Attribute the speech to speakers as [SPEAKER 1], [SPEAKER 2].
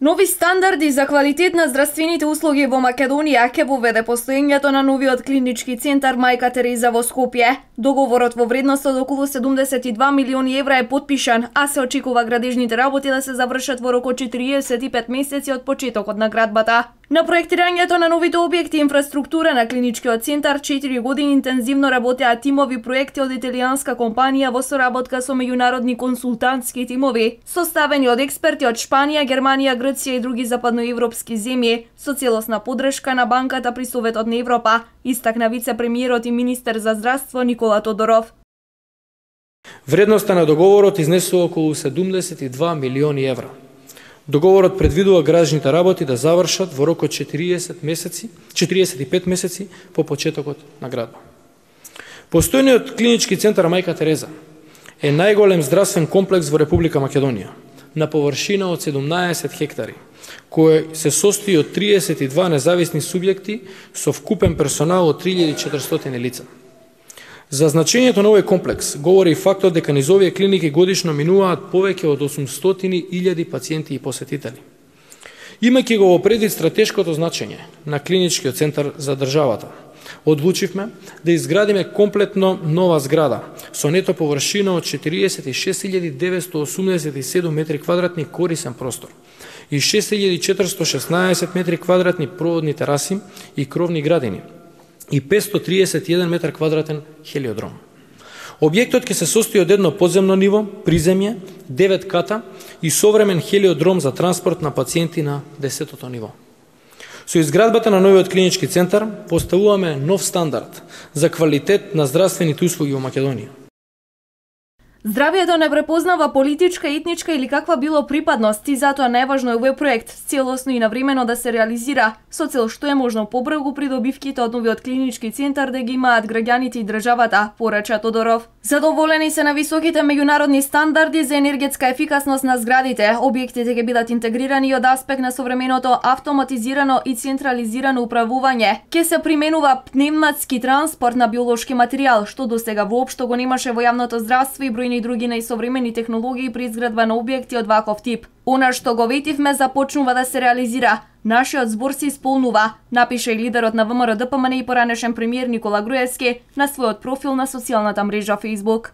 [SPEAKER 1] Нови стандарди за квалитет на здравствените услуги во Македонија ќе воведе постоењето на новиот клинички центар Мајка Тереза во Скопје. Договорот во вредност од околу 72 милиони евра е потпишан, а се очекува градежните работи да се завршат во рок од 45 месеци од почетокот на градбата. На проектирањето на новите објекти и инфраструктура на клиничкиот центар 4 години интензивно работеа тимови проекти од италијанска компанија во соработка со меѓународни консултантски тимови, составени од експерти од Шпанија, Германија, Грција и други западноевропски земји, со целосна поддршка на Банката при Советот на Европа, истакна вице-премиерот и министер за здравство Никола Тодоров.
[SPEAKER 2] Вредноста на договорот изнесува околу 72 милиони евра. Договорот предвидува градежните работи да завршат во рок од 45 месеци по почетокот на градба. Постојниот клинички центар Мајка Тереза е најголем здравствен комплекс во Република Македонија, на површина од 17 хектари, кој се состои од 32 независни субјекти со вкупен персонал од 3400 лица. За значењето на овој комплекс говори и фактот дека низ овие клиники годишно минуваат повеќе од 800.000 пациенти и посетители. Имајќи го во предвид стратешкото значење на клиничкиот центар за државата, одлучивме да изградиме комплетно нова зграда со нето површина од 46.987 метри квадратни корисен простор и 6.416 метри квадратни проводни тераси и кровни градини и 531 метар квадратен хелиодром. Објектот ќе се состои од едно подземно ниво, приземје, 9 ката и современ хелиодром за транспорт на пациенти на 10-тото ниво. Со изградбата на новиот клинички центар поставуваме нов стандард за квалитет на здравствените услуги во Македонија.
[SPEAKER 1] Здравјето не препознава политичка, етничка или каква било припадност и затоа најважно е овој проект целосно и навремено да се реализира, со цел што е можно побрзо придобивките од новиот клинички центар да ги имаат граѓаните и државата, порача Тодоров. Задоволени се на високите меѓународни стандарди за енергетска ефикасност на зградите. Објектите ќе бидат интегрирани од аспект на современото автоматизирано и централизирано управување. Ќе се применува пневматски транспорт на биолошки материјал, што досега воопшто го немаше во јавното здравство и бројни други најсовремени технологии при изградба на објекти од ваков тип. Она што го ветивме започнува да се реализира. Нашиот збор се исполнува, напише и лидерот на ВМРО ДПМН и поранешен премиер Никола Груевски на својот профил на социјалната мрежа Facebook.